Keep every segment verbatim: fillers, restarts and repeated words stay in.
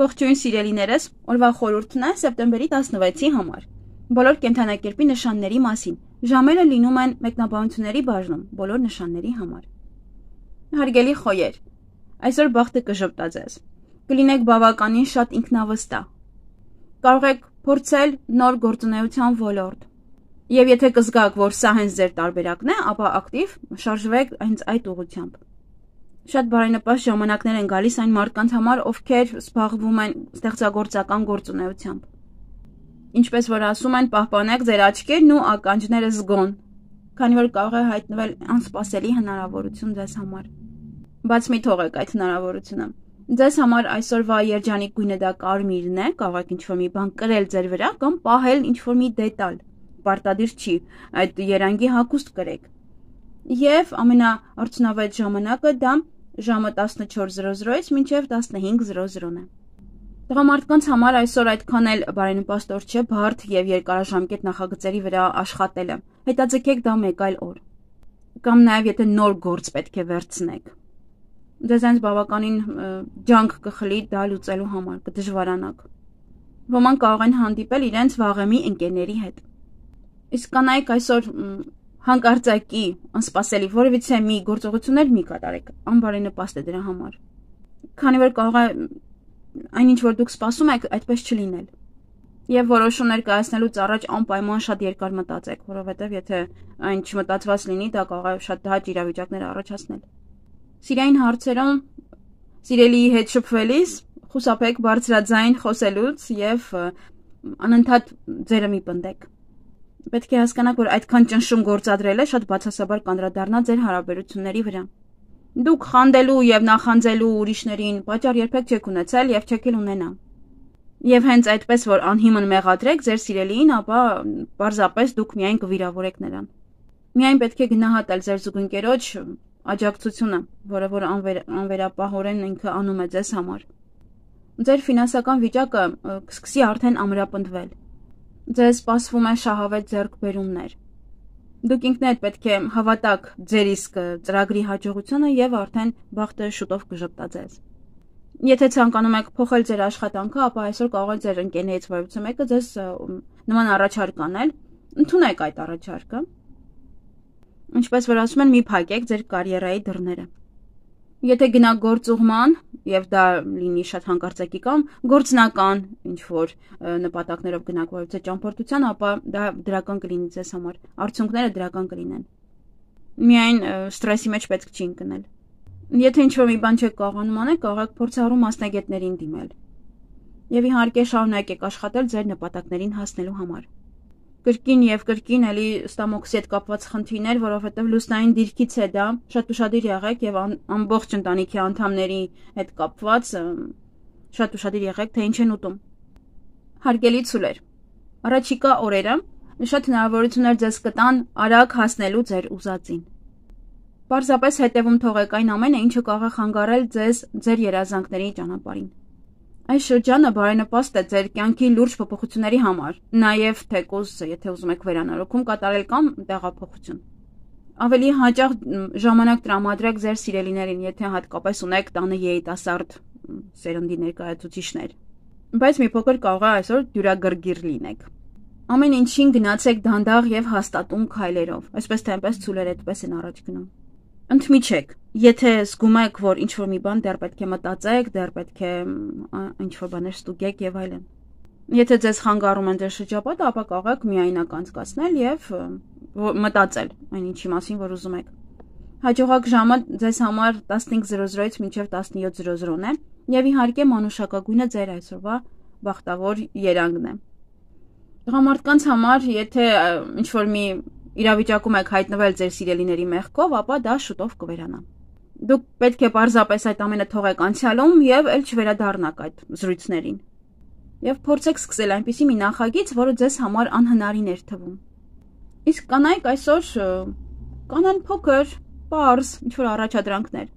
Ողջույն սիրելիներս, օրվա խորհուրդն է սեպտեմբերի տասնվեցի համար։ Բոլոր կենդանակերպի նշանների մասին։ Ժամերը լինում են մեկնաբանությունների բաժնում, բոլոր նշանների համար։ Հարգելի խոյեր, այսօր բախտը կժպտա ձեզ։ Կլինեք բավականին շատ ինքնավստահ։ Կարող եք փորձել նոր գործունեության ոլորտ։ Եվ եթե կզգաք, որ սա հենց ձեր տարբերակն է, ապա ակտիվ շարժվեք հենց այդ ուղղությամբ։ Շատ բարենպաստ ժամանակներ են գալիս այն մարդկանց համար, ովքեր զբաղվում են ստեղծագործական գործունեությամբ։ Ինչպես որ ասում են, պահպանեք ձեր աչքերն ու ականջները զգոն, քանի որ կարող է հայտնվել անսպասելի հնարավորություն ձեզ համար։ Բաց մի թողեք այդ հնարավորությունը։ Ձեզ համար այսօրվա երջանիկ գույնը դա կարմիրն է, կարող եք ինչ-որ մի բան կրել ձեր վրա կամ պահել ինչ-որ մի դետալ։ Պարտադիր չի, այդ երանգի հագուստ կրեք։ Եվ ամենաարդյունավետ ժամանակը դա ժամը տասնչորս զրո զրոից մինչև տասնհինգ զրո զրոն է։ Տղամարդկանց համար այսօր այդքան էլ բարենպաստ օր չէ բարդ եւ երկարաժամկետ նախագծերի վրա աշխատելը։ Հետաձգեք դա մեկ այլ օր։ Կամ նաեւ եթե նոր գործ պետք է վերցնեք։ Ձեզ այնց բավականին ջանք կխլի դա լուծելու համար, կդժվարանաք։ Ոմանք կարող են հանդիպել իրենց վաղեմի ընկերների հետ։ Իսկ կանայք այսօր հանկարծակի, անսպասելի որևիցե մի գործողություններ մի կատարեք, անբարենպաստ է դրա համար։ Քանի որ կարող է այնինչ որ դուք սպասում եք, այդպես չլինել։ Եվ որոշումներ կայացնելուց առաջ անպայման շատ երկար մտածեք, որովհետև եթե այն չմտածված լինի, դա կարող է շատ հաճ իրավիճակներ առաջացնել։ Սիրային հարցերում սիրելիի հետ շփվելիս խուսափեք բարձրաձայն խոսելուց եւ անընդհատ ձերը մի պնդեք։ Պետք է հասկանաք, որ այդքան ճնշում գործադրելը շատ բացասաբար կանդրադառնա ձեր հարաբերությունների վրա։ Դուք խանդելու եւ նախանձելու ուրիշներին պատճառ երբեք չեք ունեցել եւ չեք էլ ունենա։ Եվ հենց այդպես որ անհիմն մեղադրեք ձեր սիրելիին, ապա պարզապես դուք միայն կվիրավորեք նրան։ Միայն պետք է գնահատել ձեր զուգընկերոջ աջակցությունը, որը որ անվեր, անվերապահորեն ինքը անում է ձեզ համար։ Ձեր ֆինանսական վիճակը կսկսի արդեն ամրապնդվել։ Ձեզ սպասվում է շահավետ ձեռքբերումներ։ Դուք ինքներդ պետք է հավատաք ձեր իսկ ծրագրի հաջողությունը եւ արդեն բախտը շուտով կժպտա ձեզ։ Եթե ցանկանում եք փոխել ձեր աշխատանքը, ապա այսօր կարող է ձեր ընկերներից որևիցե մեկը ձեզ նման առաջարկ անել, ընդունեք այդ առաջարկը։ Ինչպես որ ասում են, մի փակեք ձեր կարիերայի դռները։ Եթե գնաք գործուղման, եւ դա լինի շատ հանկարծակի կամ գործնական ինչ-որ նպատակներով գնաք որևիցե ճամփորդության, ապա դա դրական կլինի ձեզ համար, արդյունքները դրական կլինեն։ Միայն ստրեսի մեջ պետք չի ընկնել։ Եթե ինչ-որ մի բան չեք կարողանում անել, կարող եք փորձառու մասնագետներին դիմել։ Եվ իհարկե շարունակեք աշխատել ձեր նպատակներին հասնելու համար։ Կրկին եւ կրկին էլի ստամոքսի հետ կապված խնդիրներ, որովհետեւ լուսնային դիրքից է դա, շատ ուշադիր եղեք եւ ամբողջ ընտանիքի անդամների հետ կապված շատ ուշադիր եղեք, թե ինչ են ուտում։ Հարգելի ցուլեր, առաջիկա օրերը շատ հնարավորություններ ձեզ կտան արագ հասնելու ձեր ուզածին։ Պարզապես հետևում թողեք այն ամենը, ինչը կարող է խանգարել ձեզ ձեր երազանքների ճանապարհին։ Այս շրջանը բարենպաստ է ձեր կյանքի լուրջ փոփոխությունների համար, նաև թեկուզ, եթե ուզում եք վերանորոգում կատարել կամ տեղափոխություն։ Ավելի հաճախ ժամանակ տրամադրեք ձեր սիրելիներին, եթե հատկապես ունեք տանը երիտասարդ սերնդի ներկայացուցիչներ։ Բայց մի փոքր կարող է այսօր դյուրագրգիռ լինեք։ Ամեն ինչին գնացեք դանդաղ եւ հաստատուն քայլերով, այսպես թե այնպես ցուլեր այդպես են առաջ գնում։ Ընդմիջեք, եթե զգում եք, որ ինչ-որ մի բան դեռ պետք է մտածեք, դեռ պետք է ինչ-որ բաներ ստուգեք եւ այլն։ Եթե ձեզ խանգարում են ձեր շրջապատը, ապա կարող եք միայնակ անցկացնել եւ մտածել այն ինչի մասին, որ ուզում եք։ Հաջողակ ժամը ձեզ համար տասնհինգ զրո զրոից մինչև տասնյոթ զրո զրոն է եւ իհարկե մանուշակագույնը ձեր այսօրվա բախտավոր երանգն է։ Տղամարդկանց համար, եթե ինչ-որ մի իրավիճակում եք հայտնվել ձեր սիրելիների մեղքով, ապա դա շուտով կվերանա։ Դուք պետք է պարզապես այդ ամենը թողեք անցյալում եւ ել չվերադառնաք այդ զրույցներին։ Եվ փորձեք սկսել այնպիսի մի նախագիծ, որը ձեզ համար անհնարին էր թվում։ Իսկ կանայք այսօր կանեն փոքր, պարզ, ինչ-որ առաջադրանքներ։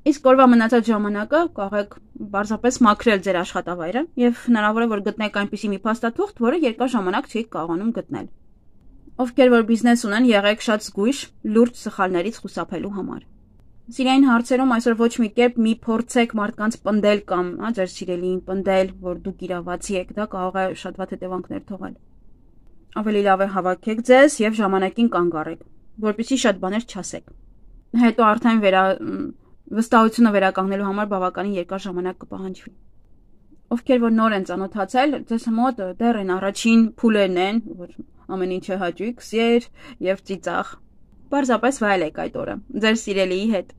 Իսկ օրվա մնացած ժամանակը կարող եք պարզապես մաքրել ձեր աշխատավայրը եւ հնարավոր է որ գտնեք այնպիսի մի փաստաթուղթ, որը երկար ժամանակ չեք կարողանում գտնել։ Ովքեր որ բիզնես ունեն, եղեք շատ զգույշ լուրջ սխալներից խուսափելու համար։ Սիրային հարցերում այսօր ոչ մի կերպ մի փորձեք մարդկանց պնդել կամ, հա, ձեր սիրելիին պնդել, որ դուք իրավացի եք, դա կարող է շատ վատ հետևանքներ թողել։ Ավելի լավ է հավաքեք ձեզ եւ ժամանակին կանգ առեք, որպեսզի շատ բաներ չասեք։ Հետո արդեն վերա վստահությունը վերականգնելու համար բավականին երկար ժամանակ կպահանջվի։ Ովքեր որ նոր են ծանոթացել, ձեզ մոտ դեռ են առաջին փուլերն են, որ ամեն ինչը հաճույք, սեր եւ ծիծաղ։ Պարզապես վայելեք այդ օրը ձեր սիրելիի հետ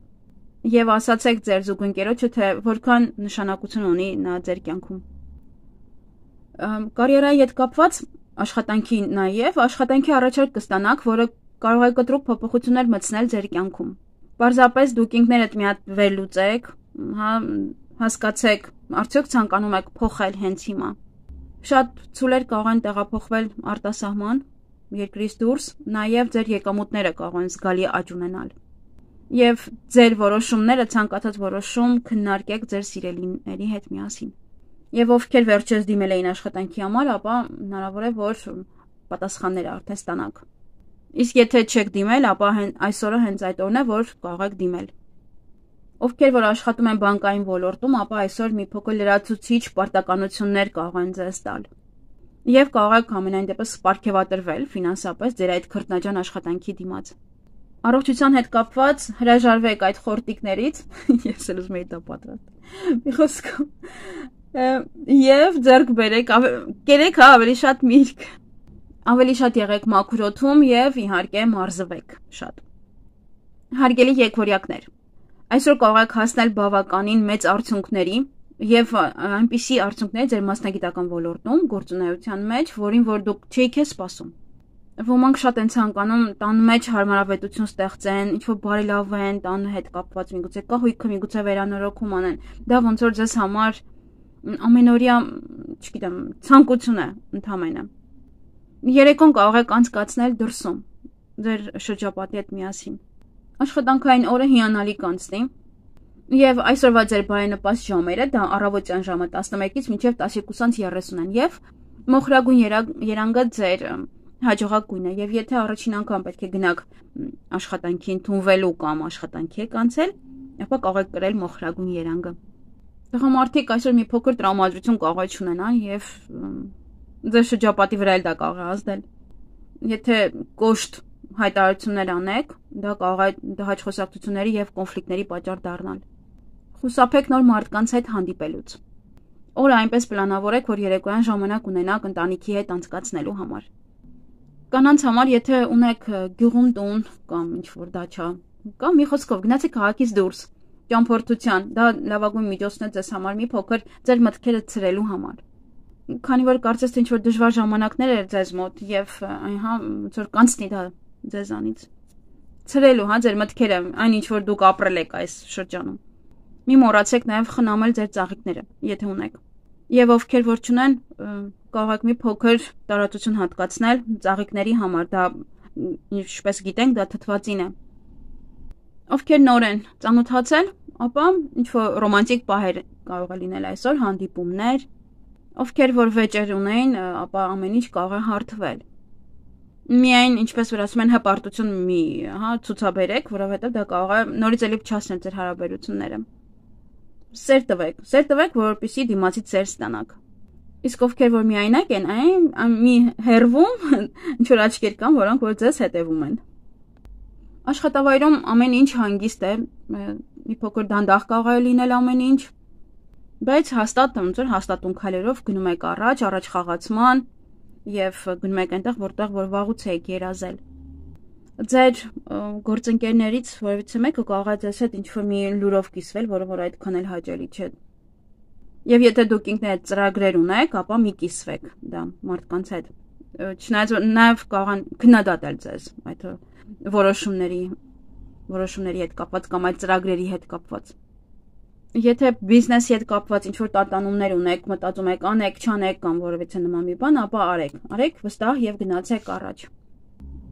եւ ասացեք ձեր զուգընկերոջը, թե որքան նշանակություն ունի նա ձեր կյանքում։ Կարիերայի հետ կապված աշխատանքի նաեւ աշխատանքի առաջարկ կստանաք, որը կարող է կտրուկ փոփոխություններ մտցնել ձեր կյանքում։ Պարզապես դուք ինքներդ մի հատ վերլուծեք, հա, հասկացեք, արդյոք ցանկանում եք փոխել հենց հիմա։ Շատ ցուլեր կարող են տեղափոխվել արտասահման, երկրից դուրս, նաև ձեր եկամուտները կարող են զգալի աճ ունենալ։ Եվ ձեր որոշումները, ցանկացած որոշում քննարկեք ձեր սիրելիների հետ միասին։ Եվ ովքեր վերջերս դիմել էին աշխատանքի համար, ապա հնարավոր է, որ պատասխանները արդեն ստանաք։ Իսկ եթե չեք դիմել, ապա այսօրը հենց այդ օրն է, որ կարող եք դիմել։ Ովքեր որ աշխատում են բանկային ոլորտում, ապա այսօր մի փոքր լրացուցիչ պարտականություններ կարող են ձեզ տալ։ Եվ կարող եք ամենայն դեպս պարգևատրվել ֆինանսապես ձեր այդ քրտնաջան աշխատանքի դիմաց։ Առողջության հետ կապված հրաժարվեք այդ խորտիկներից, ես էլ ուզում եի դա պատրաստ։ Մի խոսքով։ Եվ ձեռք բերեք, կերեք հա ավելի շատ միրգ։ Ավելի շատ եղեք մաքուր օդում եւ իհարկե մարզվեք շատ։ Հարգելի եկվորյակներ, այսօր կարող եք հասնել բավականին մեծ արդյունքների եւ այնպիսի արդյունքներ ձեր մասնագիտական ոլորտում, գործունեության մեջ, որին որ դուք չէիք սպասում։ Ոմանք շատ են ցանկանում տան մեջ հարմարավետություն ստեղծեն, ինչ-որ բարելավեն, տան հետ կապված միգուցե կահույքը, միգուցե վերանորոգում անեն։ Դա ոնց որ ձեզ համար ամենօրյա, չգիտեմ, ցանկություն է ընդհանրապես։ Երեկոն կարող եք անցկացնել դրսում, ձեր շրջապատի հետ միասին։ Աշխատանքային օրը հիանալի կանցնի, եւ այսօրվա ձեր բարենպաստ ժամերը դա առավոտյան ժամը տասնմեկից մինչև տասնյոթ երեսուն են, եւ մոխրագույն երանգը ձեր հաջողակ գույնը, եւ եթե առաջին անգամ պետք է գնաք աշխատանքի ընդունվելու կամ աշխատանքի եք անցել, ապա կարող եք կրել մոխրագույն երանգը։ Տղամարդիկ այսօր մի փոքր տրամադրություն կարող է ունենան եւ ձեր շրջապատի վրա էլ դա կարող է ազդել։ Եթե կոշտ հայտարարություններ անեք, դա կարող է դահաճ խոսակցությունների եւ կոնֆլիկտների պատճառ դառնալ։ Խուսափեք նոր մարդկանց հետ հանդիպելուց։ Օրը այնպես պլանավորեք, որ երեկոյան ժամանակ ունենաք ընտանիքի հետ անցկացնելու համար։ Կանանց համար, եթե ունեք գյուղում տուն կամ ինչ-որ դաչա, կամ մի խոսքով գնացեք քաղաքից դուրս, ճամփորդության, դա լավագույն միջոցն է ձեզ համար մի փոքր ձեր մտքերը ցրելու համար։ Քանի որ կարծես թե ինչ-որ դժվար ժամանակներ էր ձեզ մոտ եւ հա ոնց որ կանցնի դա ձեզանից։ Ցրելու, հա, ձեր մտքերը, այն ինչ որ դուք ապրել եք այս շրջանում։ Մի մոռացեք նաեւ խնամել ձեր ծաղիկները, եթե ունեք։ Եվ ովքեր որ չունեն, կարող եք մի փոքր տարածություն հատկացնել ծաղիկների համար, դա ինչպես գիտենք, դա թթվածին է։ Ովքեր նոր են ծանոթացել, ապա ինչ որ ռոմանտիկ պահեր կարող է լինել այսօր, հանդիպումներ, ովքեր որ վեճեր ունեն, ապա ամեն ինչ կարող է հարթվել։ Միայն ինչպես որ ասում են հպարտություն մի, հա, ցուցաբերեք, որովհետև դա կարող է նորից էլի փչացնել ձեր հարաբերությունները։ Սեր տվեք, սեր տվեք, որպեսզի դիմացից սեր ստանաք։ Իսկ ովքեր որ միայնակ են, այն մի հերվում, ինչ որ աչքեր կան, որոնք որ ձեզ հետևում են։ Աշխատավայրում ամեն ինչ հանգիստ է, մի փոքր դանդաղ կարող է լինել ամեն ինչ, բայց հաստատ ոնց որ հաստատուն քայլերով գնում եք առաջ, առաջ խաղացման եւ գնում եք այնտեղ, որտեղ որ վաղուց եք երազել։ Ձեր գործընկերներից որևիցե մեկը կարող է ձեզ հետ ինչ-որ մի լուրով կիսվել, որը որ այդքան էլ հաճելի չէ։ Եվ եթե դուք ինքներդ ծրագրեր ունեք, ապա մի կիսվեք դա մարդկանց հետ։ Չնայած նաեւ կարող են քննադատել ձեզ այդ որոշումների որոշումների հետ կապված կամ այդ ծրագրերի հետ կապված։ Եթե բիզնեսի հետ կապված ինչ-որ տատանումներ ունեք, մտածում եք անեք, չանեք կամ որևիցե նման մի բան, ապա արեք, արեք վստահ եւ գնացեք առաջ։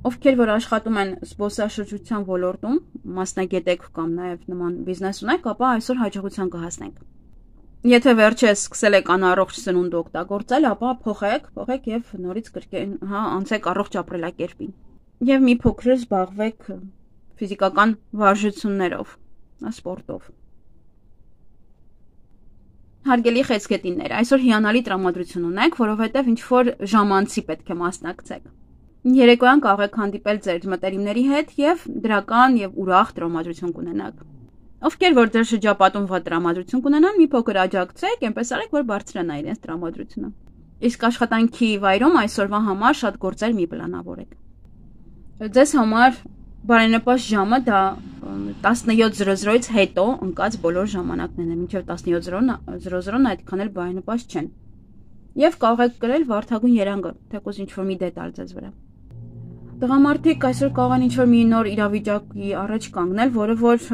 Ովքեր որ աշխատում են զբոսաշրջության ոլորտում, մասնագետ եք կամ նաեւ նման բիզնես ունեք, ապա այսօր հաջողության կհասնեք։ Եթե վերջերս սկսել եք անառողջ սնունդ օգտագործել, ապա փոխեք, փոխեք եւ նորից կրկին, հա, անցեք առողջ ապրելակերպին։ Եվ մի փոքր զբաղվեք ֆիզիկական վարժություններով։ սպորտով։ Հարգելի խեցգետիններ, այսօր հիանալի տրամադրություն ունեք, որովհետև ինչ-որ ժամանցի պետք է մասնակցեք։ Երեկոյան կարող եք հանդիպել ձեր մտերիմների հետ և դրական և ուրախ տրամադրություն կունենաք։ Ովքեր որ ձեր շրջապատում վատ տրամադրություն կունենան, մի փոքր աջակցեք, այնպես արեք, որ բարձրանա իրենց տրամադրությունը։ Իսկ աշխատանքի վայրում այսօրվա համար շատ գործեր մի պլանավորեք։ Ձեզ համար բարենպաստ ժամը դա տասնյոթ զրո զրոից հետո ընկած բոլոր ժամանակներն են, մինչև տասնյոթ զրո զրոն այդքան էլ բարենպաստ չեն։ Եվ կարող եք կրել վարդագույն երանգը, թեկուզ ինչ-որ մի դետալ ձեզ վրա։ Տղամարդիկ այսօր կարող են ինչ-որ մի նոր իրավիճակի առաջ կանգնել, որը որ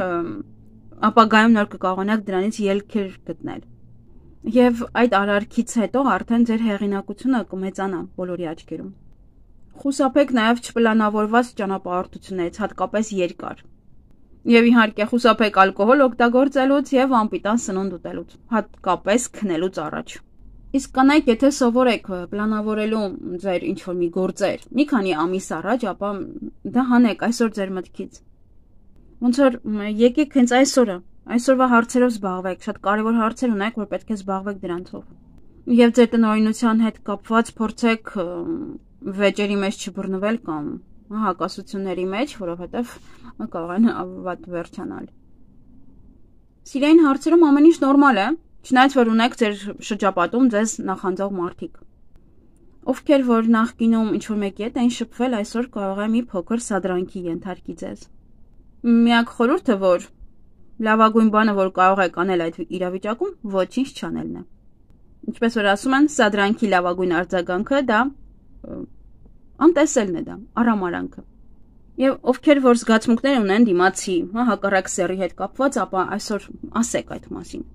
ապագայում նոր կկարողանաք դրանից ելքեր գտնել։ Եվ այդ արարքից հետո արդեն ձեր հեղինակությունը կմեծանա բոլորի աչքերում։ Խուսափեք նաև չպլանավորված ճանապարհորդություններից, հատկապես երկար։ Եվ իհարկե խուսափեք ալկոհոլ օգտագործելուց եւ անպիտան սնունդ ուտելուց, հատկապես քնելուց առաջ։ Իսկ կանայք, եթե սովորեք պլանավորելու ձեր ինչ-որ մի գործեր մի քանի ամիս առաջ, ապա դա հանեք այսօր ձեր մտքից։ Ոնց որ եկեք հենց այսօրը, այսօրվա հարցերով զբաղվեք, շատ կարևոր հարցեր ունեք, որ պետք է զբաղվեք դրանցով։ Եվ ձեր տնօրինության հետ կապված փորձեք վեճերի մեջ չբռնվել կամ հակասությունների մեջ, որովհետև կարող են վատ վերջանալ։ Սիրային հարցերում ամեն ինչ նորմալ է, չնայած որ ունեք ձեր շրջապատում ձեզ նախանձող մարդիկ։ Ովքեր որ նախկինում ինչ-որ մեկի հետ էին շփվել, այսօր կարող է մի փոքր սադրանքի ենթարկի ձեզ։ Միակ խորհուրդը, որ լավագույն բանը, որ կարող եք անել այդ իրավիճակում, ոչինչ չանելն է։ Ինչպես որ ասում են, սադրանքի լավագույն արձագանքը դա անտեսելն է, դա արամարանքը։ Եվ ովքեր որ զգացմունքներ ունեն դիմացի, հա, հակառակ սեռի հետ կապված, ապա այսօր ասեք այդ մասին։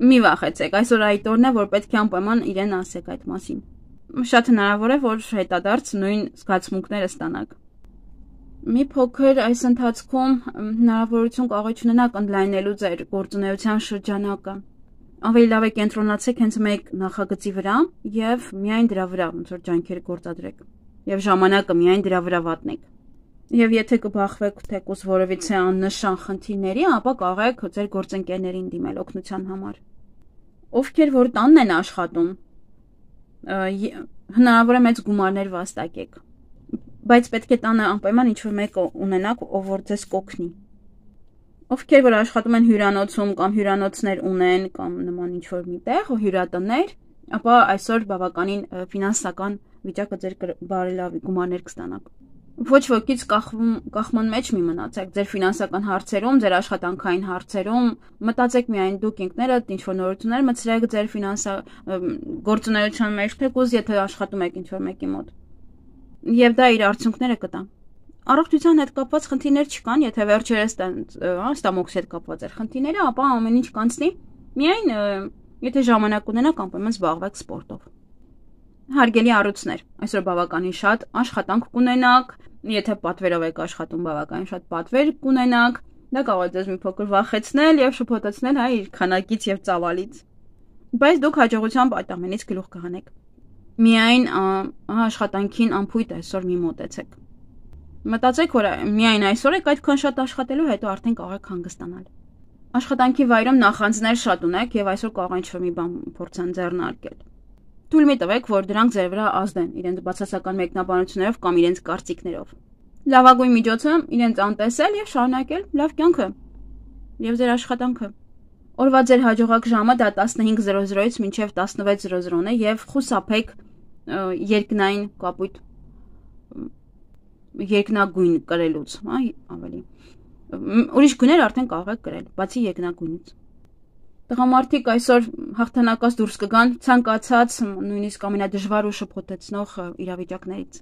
Մի վախեցեք, այսօր այդ օրն է, որ պետք է անպայման իրեն ասեք այդ մասին։ Շատ հնարավոր է, որ հետադարձ նույն զգացմունքները ստանաք։ Մի փոքր այս ընթացքում հնարավորություն կարող ունենաք ընդլայնելու ձեր գործունեության շրջանակը։ Ավելի լավ է կենտրոնացեք հենց մեկ նախագծի վրա եւ միայն դրա վրա ոնց որ ջանքեր գործադրեք եւ ժամանակը միայն դրա վրա վատնեք։ Եվ եթե կբախվեք թեկուզ որևիցե աննշան խնդիրների, ապա կարող եք ձեր գործընկերներին դիմել օգնության համար։ Ովքեր որ տանն են աշխատում, հնարավոր է մեծ գումարներ վաստակեք, բայց պետք է տանը անպայման ինչ-որ մեկը ունենաք, ով որ ձեզ կօգնի։ Ովքեր որ աշխատում են հյուրանոցում կամ հյուրանոցներ ունեն կամ նման ինչ-որ մի տեղ ու հյուրատներ, ապա այսօր բավականին ֆինանսական վիճակը ձեր բարելավի գումարներ կստանաք։ Ոչ ոքից կախվում, կախման մեջ մի մնացեք, ձեր ֆինանսական հարցերում, ձեր աշխատանքային հարցերում, մտածեք միայն դուք ինքներդ ինչ-որ նորություններ մտցրեք ձեր ֆինանսա գործունեության մեջ, թեկուզ եթե աշխատում եք ինչ-որ մեկի մոտ։ Եվ դա իր արդյունքները կտա։ Առողջության հետ կապված խնդիրներ չկան, եթե վերջերս ստամոքսի հետ կապված էր խնդիրները, ապա ամեն ինչ կանցնի, միայն եթե ժամանակ ունենաք, անպայման զբաղվեք սպորտով։ Հարգելի առույցներ, այսօր բավականին շատ աշխատանք կունենաք, եթե պատվերով եք աշխատում, բավականին շատ պատվեր կունենաք, դա կարող է ձեզ մի փոքր վախեցնել եւ շփոթեցնել հայ իր քանակից եւ ծավալից։ Բայց դուք հաջողությամբ այդ ամենից գլուխ կհանեք։ Միայն աշխատանքին անփույթ այսօր մի մոտեցեք։ Մտածեք, որ միայն այսօր եք այդքան շատ աշխատելու, հետո արդեն կարող եք հանգստանալ։ Աշխատանքի վայրում նախանձներ շատ ունեք եւ այսօր կարող ինչ-որ մի բան փորձան ձեռնարկել։ Թույլ մի տվեք, որ դրանք ձեր վրա ազդեն իրենց բացասական մեկնաբանություններով կամ իրենց կարծիքներով։ Լավագույն միջոցը իրենց անտեսել եւ շարունակել լավ կյանքը եւ ձեր աշխատանքը։ Օրվա ձեր հաջողակ ժամը դա տասնհինգ զրո զրոից մինչև տասնվեց զրո զրոն է եւ խուսափեք երկնային կապույտ երկնագույն կրելուց, հա, ավելի։ Ուրիշ գույներ արդեն կարող եք կրել, բացի երկնագույնից։ Տղամարդիկ այսօր հաղթանակած դուրս կգան ցանկացած նույնիսկ ամենադժվար ու շփոթեցնող իրավիճակներից։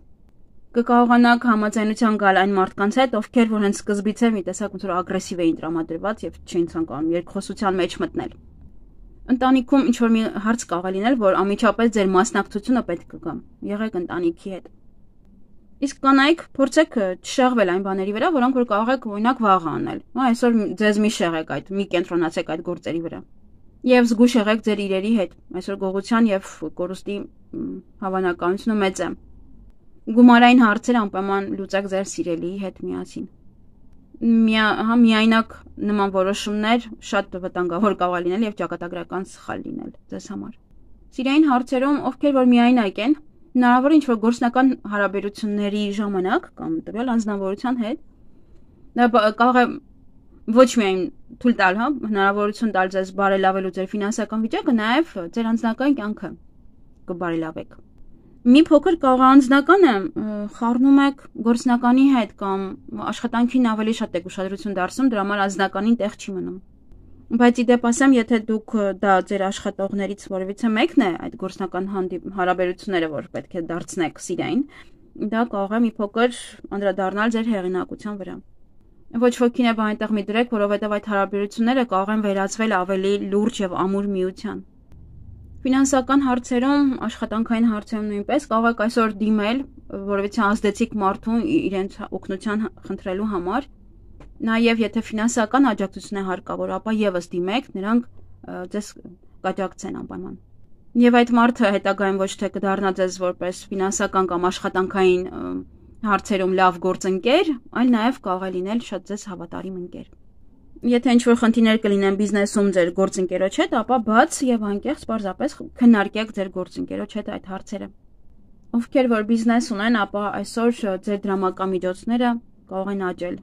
Կկարողանաք համաձայնության գալ այն մարդկանց հետ, ովքեր որ հենց սկզբից է մի տեսակ ոնց որ ագրեսիվ էին տրամադրված եւ չէին ցանկանում երկխոսության մեջ մտնել։ Ընտանիքում ինչ որ մի հարց կարող է լինել, որ անմիջապես ձեր մասնակցությունը պետք կգա։ Եղեք ընտանիքի հետ։ Իսկ կանայք փորձեք չշեղվել այն բաների վրա, որոնք որ կարող եք օրինակ վաղ անել։ Հա, այսօր ձեզ մի շեղեք այդ, մի կենտրոնացեք այդ գործերի վրա։ Եվ զգուշ եղեք ձեր իրերի հետ։ Այսօր գողության եւ կորուստի հավանականությունը մեծ է։ Գումարային հարցեր անպայման լուծեք ձեր սիրելիի հետ միասին։ հա միայնակ նման որոշումներ շատ վտանգավոր կարող է լինել եւ ճակատագրական սխալ լինել ձեզ համար։ Սիրային հարցերում, ովքեր որ միայնակ են, հնարավոր է ինչ-որ գործնական հարաբերությունների ժամանակ կամ տվյալ անձնավորության հետ դա կարող է ոչ միայն թույլ տալ, հա, հնարավորություն տալ ձեզ բարելավելու ձեր ֆինանսական վիճակը, նաև ձեր անձնական կյանքը կբարելավեք։ Մի փոքր կարող է անձնականը խառնում եք գործնականի հետ կամ աշխատանքին ավելի շատ եք ուշադրություն դարձնում, դրա համար անձնականին տեղ չի մնում։ Բայց ի դեպ ասեմ, եթե դուք դա ձեր աշխատողներից որևիցե մեկն է այդ գործնական հարաբերությունները, որ պետք է դարձնեք սիրային, դա կարող է մի փոքր անդրադառնալ ձեր հեղինակության վրա։ Ոչ ոքին է այնտեղ մի դրեք, որովհետև այդ հարաբերությունները կարող են վերածվել ավելի լուրջ եւ ամուր միության։ Ֆինանսական հարցերում, աշխատանքային հարցերում նույնպես կարող եք այսօր դիմել որևիցե ազդեցիկ մարդուն իրենց օգնության խնդրելու համար։ Նաև եթե ֆինանսական աջակցություն է հարկավոր, ապա եւս դիմեք, նրանք ձեզ կաջակցեն անպայման։ Եվ այդ մարդը հետագայում ոչ թե կդառնա ձեզ որպես ֆինանսական կամ աշխատանքային հարցերում լավ գործընկեր, այլ նաև կարող է լինել շատ ձեզ հավատարիմ ընկեր։ Եթե ինչ-որ խնդիրներ կլինեն բիզնեսում ձեր գործընկերոջ հետ, ապա բաց եւ անկեղծ պարզապես քննարկեք ձեր գործընկերոջ հետ այդ հարցերը։ Ովքեր որ բիզնես ունեն, ապա այսօր ձեր դրամական միջոցները կարող են աճել։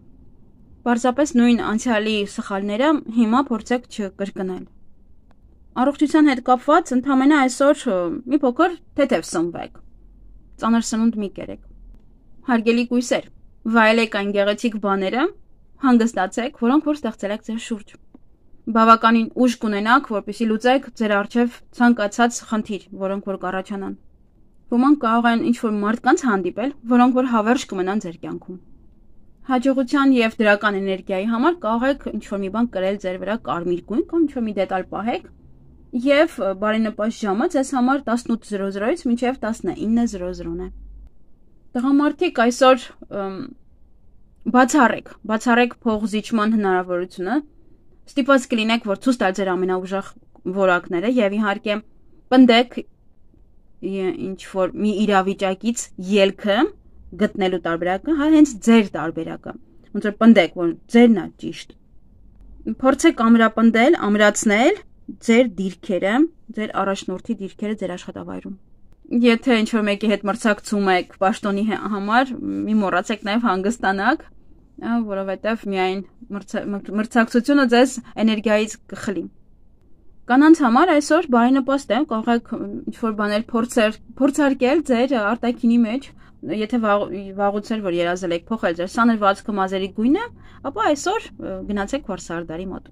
Պարզապես նույն անցյալի սխալները հիմա փորձեք չկրկնել։ Առողջության հետ կապված ընդհանրապես այսօր մի փոքր թեթև սնվեք։ Ծանր սնունդ մի կերեք։ Հարգելի կույսեր, վայելեք այն գեղեցիկ բաները, հանգստացեք, որոնք որ ստեղծել եք ձեր շուրջ։ Բավականին ուժ կունենաք, որպեսզի լուծեք ձեր առջև ցանկացած խնդիր, որոնք որ կառաջանան։ Ոմանք կարող են ինչ-որ մարդկանց հանդիպել, որոնք որ հավերժ կմնան ձեր կյանքում։ Հաջողության եւ դրական էներգիայի համար կարող եք ինչ-որ մի բան կրել ձեր վրա կարմիր գույն կամ ինչ-որ մի դետալ պահեք եւ բարենպաստ ժամը ձեզ համար տասնութ զրո զրոից մինչեւ տասնինը զրո զրոն է։ Տղամարդիկ այսօր բացառեք, բացառեք փողզիջման հնարավորությունը, ստիպված կլինեք, որ ցույց տալ ձեր ամենաուժեղ որակները եւ իհարկե պնդեք ինչ որ մի իրավիճակից ելքը գտնելու տարբերակը, հա հենց ձեր տարբերակը։ Ոնց որ պնդեք, որ ձերն է ճիշտ։ Փորձեք ամրապնդել, ամրացնել ձեր դիրքերը, ձեր առաջնորդի դիրքերը ձեր աշխատավայրում։ Եթե ինչ-որ մեկի հետ մրցակցում եք պաշտոնի համար, մի մոռացեք նաև հանգստանաք, որովհետև միայն մրցակցությունը ձեզ էներգիայից կխլի։ Կանանց համար այսօր բարենպաստ է, կարող եք ինչ-որ բաներ փորձարկել ձեր արտաքինի մեջ, եթե վաղուց էր, որ երազել եք փոխել ձեր սանր վազքը մազերի գույնը, ապա այսօր գնացեք վարսարդարի մոտ։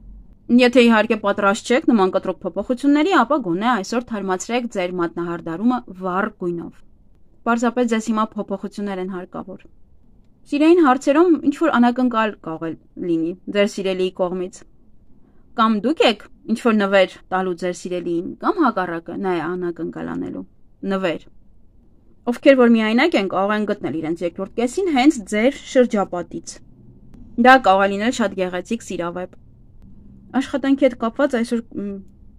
Եթե իհարկե պատրաստ չեք նման կտրուկ փոփոխությունների, ապա գոնե այսօր թարմացրեք ձեր մատնահարդարումը վառ գույնով։ Պարզապես ձեզ հիմա փոփոխություններ են հարկավոր։ Սիրային հարցերում ինչ-որ անակնկալ կարող է լինի ձեր սիրելիի կողմից։ Կամ դուք եք ինչ-որ նվեր տալու ձեր սիրելիին, կամ հակառակը նա է անակնկալ անելու նվեր։ Ովքեր որ միայնակ են, կարող են գտնել իրենց երկրորդ կեսին հենց ձեր շրջապատից։ Դա կարող է լինել շատ գեղեցիկ սիրավեպ։ Աշխատանքի հետ կապված այսօր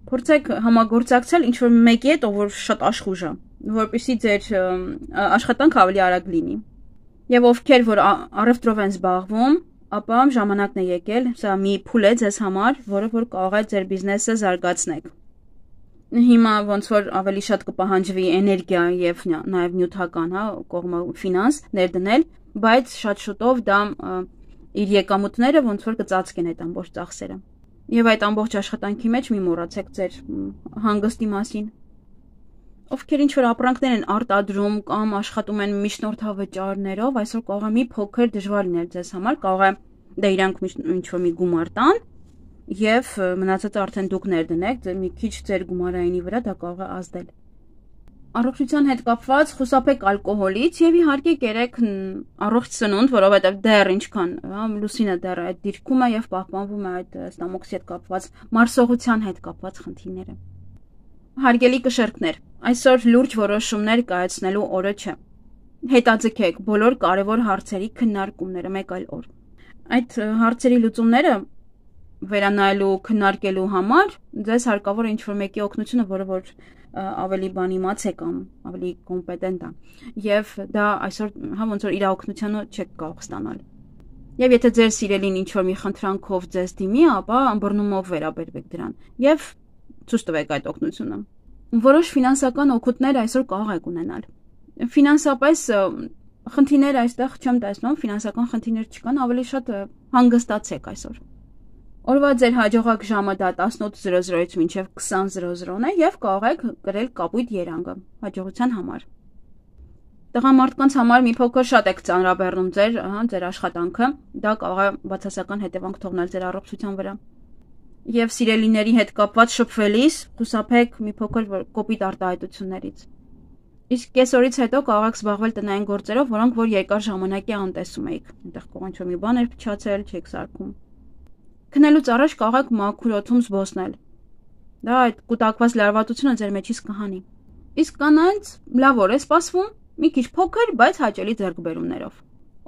փորձեք համագործակցել ինչ-որ մեկի հետ, ով որ շատ աշխուժ է, որպեսզի ձեր աշխատանքը ավելի արագ լինի։ Եվ ովքեր որ առևտրով են զբաղվում, ապա ժամանակն է եկել, սա մի փուլ է ձեզ համար, որը որ կարող է ձեր բիզնեսը զարգացնեք։ Հիմա ոնց որ ավելի շատ կպահանջվի էներգիա եւ նաեւ նյութական, հա, կողմը ֆինանս ներդնել, բայց շատ շուտով դա իր եկամուտները ոնց որ կծածկեն այդ ամբողջ ծախսերը։ Եվ այդ ամբողջ աշխատանքի մեջ մի մոռացեք ձեր հանգստի մասին։ Ովքեր ինչ որ ապրանքներ են արտադրում կամ աշխատում են միջնորդավճարներով, այսօր կարող է մի փոքր դժվար լինել ձեզ համար, կարող է դա իրանք ինչ որ մի գումար տան եւ մնացածը արդեն դուք ներդնեք, մի քիչ ձեր գումարայինի վրա դա կարող է ազդել։ Առողջության հետ կապված խուսափեք ալկոհոլից եւ իհարկե կերեք առողջ սնունդ, որովհետեւ դեռ ինչքան, հա, լուսինը դեռ այդ դիրքում է եւ պահպանվում է այդ ստամոքսի հետ կապված, մարսողության հետ կապված խնդիրները։ Հարգելի կշերկներ, այսօր լուրջ որոշումներ կայացնելու օրը չէ։ Հետաձգեք բոլոր կարևոր հարցերի քննարկումները մեկ այլ օր։ Այդ հարցերի լուծումները վերանայելու, քննարկելու համար ձեզ հարկավոր է ինչ-որ մեկի օգնությունը, որը որ ավելի բան իմաց է կամ ավելի կոմպետենտ է։ Եվ դա այսօր հա ոնց որ իր օգնությունը չեք կարող ստանալ։ Եվ եթե ձեր սիրելին ինչ-որ մի խնդրանքով ձեզ դիմի, ապա ըմբռնումով վերաբերվեք դրան եւ ցույց տվեք այդ օգնությունը։ Որոշ ֆինանսական օգուտներ այսօր կարող եք ունենալ։ Ֆինանսապես խնդիրներ այստեղ չեմ տեսնում, ֆինանսական խնդիրներ չկան, ավելի շատ հանգստացեք այսօր։ Օրվա ձեր հաջողակ ժամը դա տասնութ զրո զրոից մինչև քսան զրո զրոն է եւ կարող եք գրել կապույտ երանգը հաջողության համար։ Տղամարդկանց համար մի փոքր շատ եք ծանրաբեռնում ձեր, ահա, ձեր աշխատանքը, դա կարող է բացասական հետևանք թողնել ձեր առողջության վրա։ Եվ սիրելիների հետ կապված շփվելիս խուսափեք մի փոքր կոպիտ արտահայտություններից։ Իսկ կեսօրից հետո կարող եք զբաղվել տնային գործերով, որոնք որ երկար ժամանակի անտեսում եք։ Այնտեղ կարող ինչ-որ մի բան էր փչացել, չեք սարքում։ Քնելուց առաջ կարող եք մաքուր օդում զբոսնել։ Դա այդ կուտակված լարվածությունը ձեր մեջից կհանի։ Իսկ կանանց լավ օր է սպասվում, մի քիչ փոքր, բայց հաճելի ձեռքբերումներով։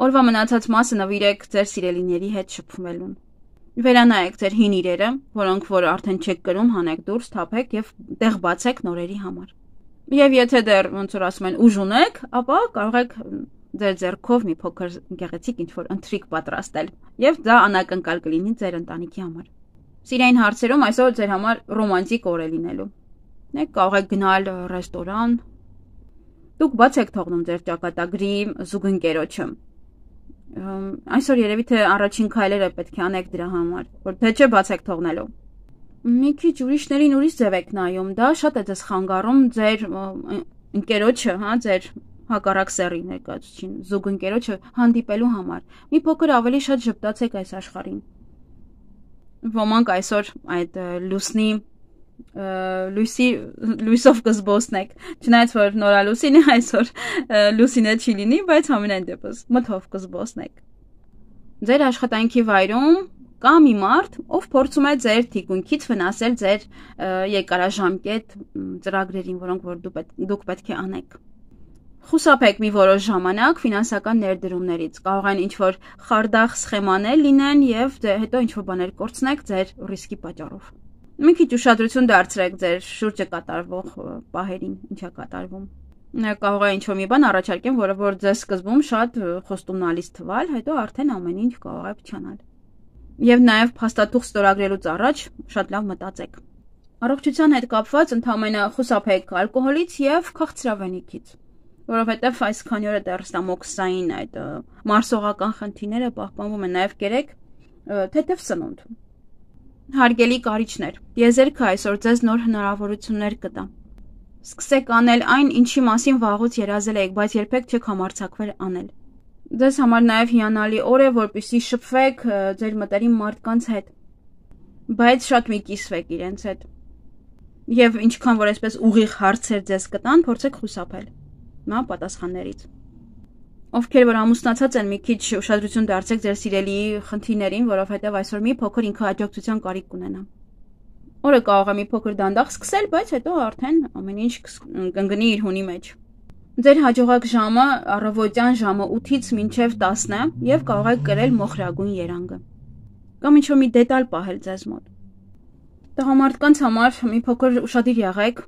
Օրվա մնացած մասը նվիրեք ձեր սիրելիների հետ շփվելուն։ Վերանայեք ձեր հին իրերը, որոնք որ արդեն չեք կրում, հանեք դուրս, թափեք եւ տեղ բացեք նորերի համար։ Եվ եթե դեռ ոնց որ ասում են ուժ ունեք, ապա կարող եք ձեր ձեռքով մի փոքր գեղեցիկ ինչ-որ ընթրիք պատրաստել, եւ դա անակնկալ կլինի ձեր ընտանիքի համար։ Սիրային հարցերում այսօր ձեր համար ռոմանտիկ օր է լինելու։ Դուք կարող եք գնալ ռեստորան։ Դուք բաց եք թողնում ձեր ճակատագրի զուգընկերոջը։ Այսօր երևի թե առաջին քայլերը պետք է անեք դրա համար, որ թե չէ բաց եք թողնելու։ Մի քիչ ուրիշներին ուրիշ ձև եք նայում, դա շատ է ձեզ խանգարում ձեր ընկերոջը, հա, ձեր հակառակ սեռի ներկայացուցին, զուգընկերոջը հանդիպելու համար։ Մի փոքր ավելի շատ ժպտացեք այս աշխարհին։ Ոմանք այսօր այդ լուսնի լույսի լույսով կզբոսնեք, չնայած որ նորալուսին է այսօր լուսինը չի լինի, բայց ամենայն դեպս մթով կզբոսնեք։ Ձեր աշխատանքի վայրում կա մի մարդ, ով փորձում է ձեր թիկունքից վնասել ձեր երկարաժամկետ ծրագրերին, որոնք որ դուք պետք է անեք։ Խուսափեք մի որոշ ժամանակ ֆինանսական ներդրումներից, կարող են ինչ-որ խարդախ սխեմաներ լինեն եւ հետո ինչ-որ բաներ կորցնեք ձեր ռիսկի պատճառով։ Մի քիչ ուշադրություն դարձրեք ձեր շուրջը կատարվող պահերին, ինչա կատարվում։ Կարող է ինչ-որ մի բան առաջարկեմ, որը որ ձեզ սկզբում շատ խոստումնալից թվալ, հետո արդեն ամեն ինչ կարող է փչանալ։ Եվ նաեւ փաստաթուղթ ստորագրելուց առաջ շատ լավ մտածեք։ Առողջության հետ կապված ընդհանրապես խուսափեք ալկոհոլից եւ քաղցրավենիքից, որովհետեւ այս քանի օրը դեռ ստամոքսային այդ մարսողական խնդիրները պահպանվում են, նաեւ կերեք թեթև սնունդ։ Հարգելի կարիճներ, տիեզերքը այսօր ձեզ նոր հնարավորություններ կտա։ Սկսեք անել այն, ինչի մասին վաղուց երազել եք, բայց երբեք չեք համարձակվել անել։ Ձեզ համար նաև հիանալի օր է, որպեսզի շփվեք ձեր մտերիմ մարդկանց հետ, բայց շատ մի կիսվեք իրենց հետ։ Եվ ինչքան որ այսպես ուղիղ հարցեր ձեզ կտան, փորձեք խուսափել նա պատասխաններից։ Ովքեր որ ամուսնացած են, մի քիչ ուշադրություն դարձեք ձեր սիրելիի խնդիրներին, որովհետև այսօր մի փոքր ինքնահաջողության կարիք կունենա։ Օրը կարող է մի փոքր դանդաղ սկսել, բայց հետո արդեն ամեն ինչ կընկնի իր հունի մեջ։ Ձեր հաջողակ ժամը առավոտյան ժամը ութից մինչև տասն է եւ կարող եք կրել մոխրագույն երանգը։ Կամ ինչ-որ մի դետալ պահել ձեզ մոտ։ Տղամարդկանց համար մի փոքր ուշադիր եղեք,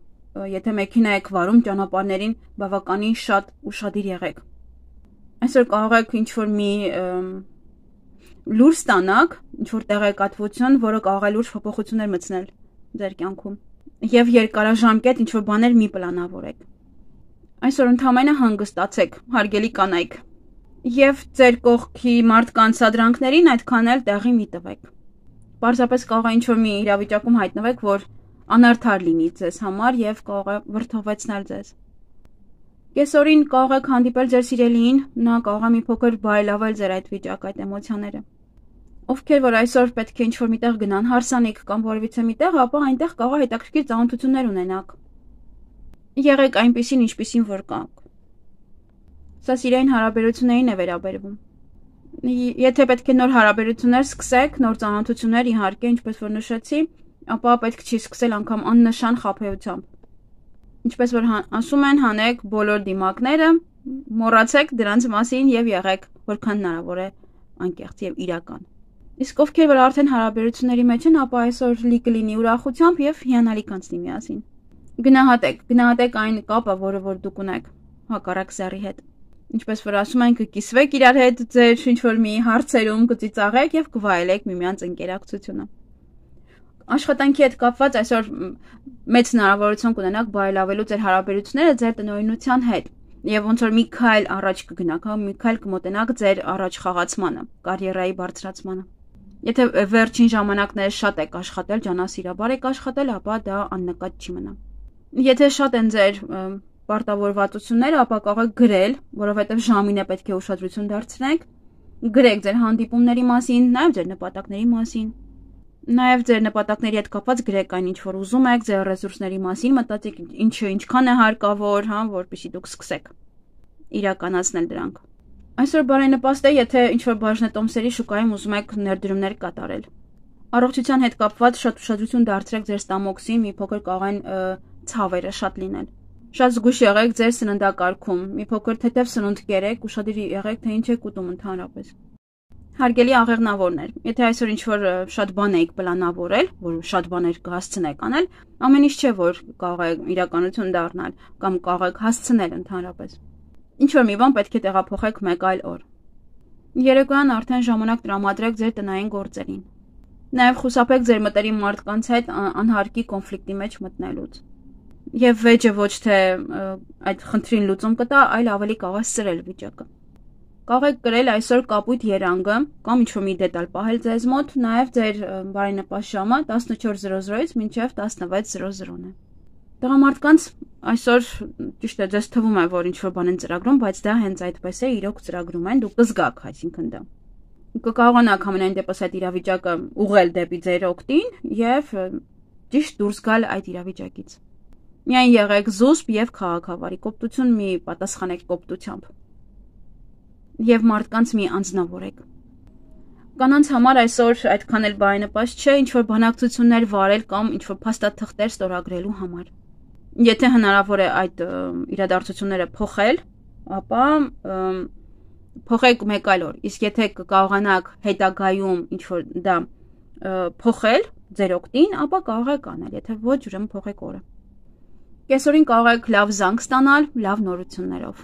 եթե մեքենա եք վարում ճանապարհներին, բավականին շատ ուշադիր եղեք։ Այսօր կարող եք ինչ-որ մի լուր ստանաք, ինչ-որ տեղեկատվություն, որը կարող է լուրջ փոփոխություններ մտցնել ձեր կյանքում։ Եվ երկարաժամկետ ինչ-որ բաներ մի պլանավորեք։ Այսօր ընդհանրապես հանգստացեք, հարգելի կանայք, եւ ձեր կողքի մարդկանց սադրանքներին այդքան էլ տեղի մի տվեք։ Պարզապես կարող է ինչ-որ մի իրավիճակում հայտնվեք, որ անարդար լինի ձեզ համար եւ կարող է վրդովեցնել ձեզ։ Կեսօրին կարող եք հանդիպել ձեր սիրելիին, նա կարող է մի փոքր բարելավել ձեր այդ վիճակը, այդ էմոցիաները։ Ովքեր որ այսօր պետք է ինչ-որ միտեղ գնան հարսանիք կամ որևիցե միտեղ, ապա այնտեղ կարող է հետաքրքիր ծանոթություններ ունենաք։ Եղեք այնպիսին, ինչպիսին որ կաք։ Սա սիրային հարաբերություններին է վերաբերվում։ Եթե պետք է նոր հարաբերություններ սկսեք, նոր ծանոթություններ, իհարկե, ինչպես որ նշեցի, ապա պետք չի սկսել անգամ աննշան խաբեությամբ։ Ինչպես որ ասում են, հանեք բոլոր դիմակները, մոռացեք դրանց մասին եւ եղեք որքան հնարավոր է անկեղծ եւ իրական։ Իսկ ովքեր որ արդեն հարաբերությունների մեջ են, ապա այսօր լի կլինի ուրախությամբ եւ հիանալի կանցնի միասին։ Գնահատեք, գնահատեք այն կապը, որը որ դուք ունեք հակառակ սեռի հետ։ Ինչպես որ ասում են, կկիսվեք իրար հետ ձեր ինչ-որ մի հարցերում, կծիծաղեք եւ կվայելեք միմյանց ընկերակցությունը։ Աշխատանքի հետ կապված այսօր մեծ հնարավորություն կունենաք բարելավելու ձեր հարաբերությունները ձեր տնօրինության հետ եւ ոնց որ մի քայլ առաջ կգնաք, հա, մի քայլ կմոտենաք ձեր առաջ խաղացմանը, կարիերայի բարձրացմանը։ Եթե վերջին ժամանակները շատ եք աշխատել, ջանասիրաբար եք աշխատել, ապա դա աննկատ չի մնա։ Եթե շատ են ձեր պարտավորվածությունները, ապա կարող եք գրել, որովհետև ժամին է պետք է ուշադրություն դարձնեք, գրեք ձեր հանդիպումների մասին, նաև ձեր նպատակների մասին, նաև ձեր նպատակների հետ կապված գրեք այն, ինչ որ ուզում եք, ձեր ռեսուրսների մասին, մտածեք ինչը ինչքան է հարկավոր, հա, որպեսզի դուք սկսեք իրականացնել դրանք։ Այսօր բարենպաստ է, եթե ինչ-որ բաժնետոմսերի շուկայում ուզում եք ներդրումներ կատարել։ Առողջության հետ կապված շատ ուշադրություն դարձրեք ձեր ստամոքսին, մի փոքր կարող են ցավերը շատ լինել։ Շատ զգույշ եղեք ձեր սննդակարգում, մի փոքր թեթև սնունդ կերեք, ուշադիր եղեք, թե ինչ եք ուտում ընդհանրապես։ Հարգելի աղեղնավորներ, եթե այսօր ինչ-որ շատ բան եք պլանավորել, որ շատ բաներ կհասցնեք անել, ամեն ինչ չէ, որ կարող է իրականություն դառնալ կամ կարող եք հասցնել ընդհանրապես։ Ինչ-որ մի բան պետք է տեղափոխեք մեկ այլ օր։ Երեկոյան արդեն ժամանակ տրամադրեք ձեր տնային գործերին։ Նաև խուսափեք ձեր մտերիմ մարդկանց հետ անհարկի կոնֆլիկտի մեջ մտնելուց։ Եվ վեճը ոչ թե այդ խնդրին լուծում կտա, այլ ավելի կարող է սրել վիճակը։ Կարող եք գրել այսօր կապույտ երանգը կամ ինչ-որ մի դետալ պահել ձեզ մոտ, նաև ձեր բարենպաստ ժամը տասնչորս զրո զրոից մինչև տասնվեց զրո զրոն է։ Տղամարդկանց այսօր ճիշտ է, ձեզ թվում է, որ ինչ-որ բան են ծրագրում, բայց դա հենց այդպես է, իրոք ծրագրում են, դուք կզգաք, այսինքն դա։ Կկարողանաք ամենայն դեպս այդ իրավիճակը ուղղել դեպի ձեր օգտին եւ ճիշտ դուրս գալ այդ իրավիճակից։ Միայն եղեք զուսպ եւ քաղաքավարի, կոպտություն մի պատասխանեք կոպտությամբ։ Եվ մարդկանց մի անձնավորեք։ Կանանց համար այսօր այդքան էլ բարենպաստ չէ ինչ-որ բանակցություններ վարել կամ ինչ-որ փաստաթղթեր ստորագրելու համար։ Եթե հնարավոր է այդ իրադարձությունները փոխել, ապա փոխեք մեկ այլ օր։ Իսկ եթե կկարողանաք հետագայում ինչ-որ դա փոխել ձեր օգտին, ապա կարող եք անել, եթե ոչ, ուրեմն փոխեք օրը։ Կեսօրին կարող եք լավ զանգ ստանալ, լավ նորություններով։